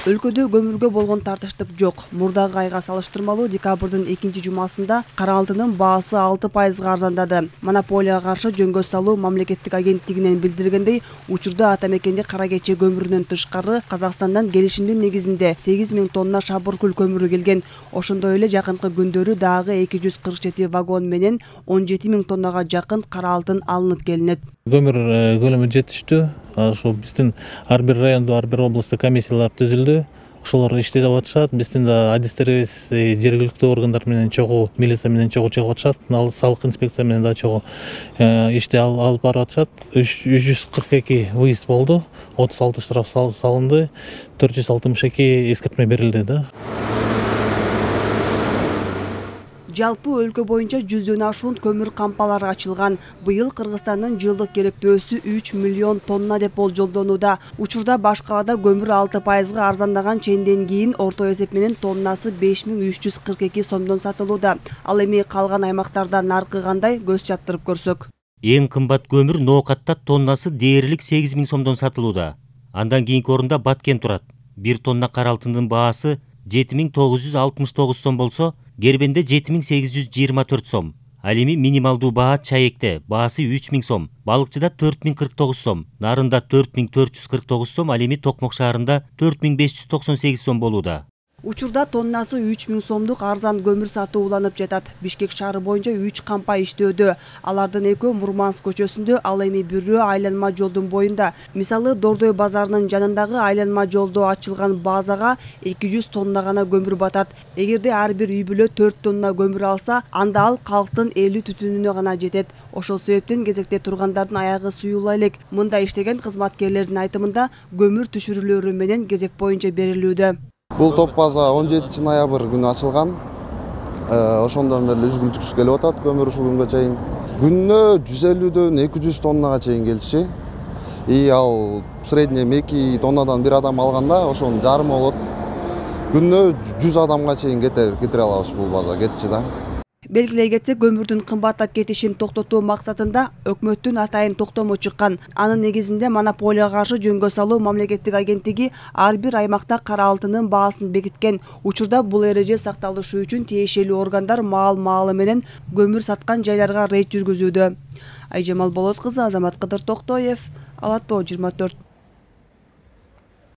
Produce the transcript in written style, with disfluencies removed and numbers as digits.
Өлкөдө көмүргө болгон тартыштык жок. Мурдагы айга салыштырмалуу декабрдын 2-жумасында кара алтындын баасы 6% арзандады. Монополияга каршы жөнгө салуу мамлекеттик агенттигинен билдиргендей, учурда ата мекенди Кара Кече көмүрүнөн тышкары Казакстандан келишимдин негизинде 8000 тонна шабыркүл көмүрү келген. Ошондой эле жакынкы күндөрү дагы 247 вагон менен 17000 тоннага жакын кара алтын алынып келинет. Көмүр көлөмү жетиштүү. Ошол биздин ар бир райондо, ар бир областта комиссиялар түзүлдү. Ошолор иштеп атышат. Биздин да адистерибиз жергиликтүү органдар менен чогуу, милиция менен чогуу чыгып атышат. Салык инспекция менен да чогуу ишти алып барып атышат. 342 выезд болду. 36 штраф салынды. 462 эскертме берилди да. Жалпы өлкө боюнча 100дөн ашуун көмүр кампалары ачылган. Быйыл Кыргызстандын жылдык керектөөсү 3 миллион тонна деп болжолдонууда. Учурда баш калаада көмүр 6% арзандаган ченден кийин орто эсеп менен тоннасы 5342 сомдон сатылууда. Ал эми калган аймактарда наркы кандай, көз чаптырып көрсөк. Эң кымбат көмүр Ноокатта тоннасы дээрлик 8000 сомдон сатылууда. Андан кийинки орунда Баткен турат. 1 тонна кара алтындын баасы 7969 сом болсо, Гербенде 7824 сом. Ал эми минималдуу баа Чаекте баасы 3000 сом, Балыкчыда 4049 сом, Нарында 4449 сом, ал эми Токмок шаарында 4598 сом болууда. Учурда тоннасы 3000 сомдук арзан көмүр сатуу уланып жатат. Бишкек шаары боюнча 3 кампа иштөөдө. Алардын экөө Мурманск көчөсүндө, ал эми бирөө айланма жолдун боюнда. Мисалы, Дордой базарынын жанындагы айланма жолдо ачылган базага 200 тонна гана көмүр батат. Эгерде ар бир үй бүлө 4 тонна көмүр алса, анда ал калктын 50 түтүнүнө гана жетет. Ошол себептен кезекте тургандардын аягы суюла элек. Мында иштеген кызматкерлердин айтымында көмүр түшүрүүлөрү менен кезек боюнча берилүүдө. Бул топ база 17 ноябрь күнү ачылган. Ошондон бери үзгүлтүксүз келип атат көмүр ушул күнгө чейин. Күнүнө 150дөн 200 тоннага чейин келчү. Ал средний 2 тоннадан бир адам алганда ошонун жарымы болот. Күнүнө 100 адамга чейин кетире алабыз бул база, кетчү да. Белгилей кетсек, көмүрдүн кымбаттап кетишин токтотуу максатында өкмөттүн атайын токтому чыккан. Анын негизинде монополияга каршы жөнгө салуу мамлекеттик агенттиги ар бир аймакта кара алтындын баасын бекиткен. Учурда бул эреже сакталышы үчүн тиешелүү органдар маал-маалы менен көмүр саткан жайларга рейд жүргүзүүдө. Айжамал Болот кызы, Азамат Кыдыр Токтоев, Ала Тоо 24.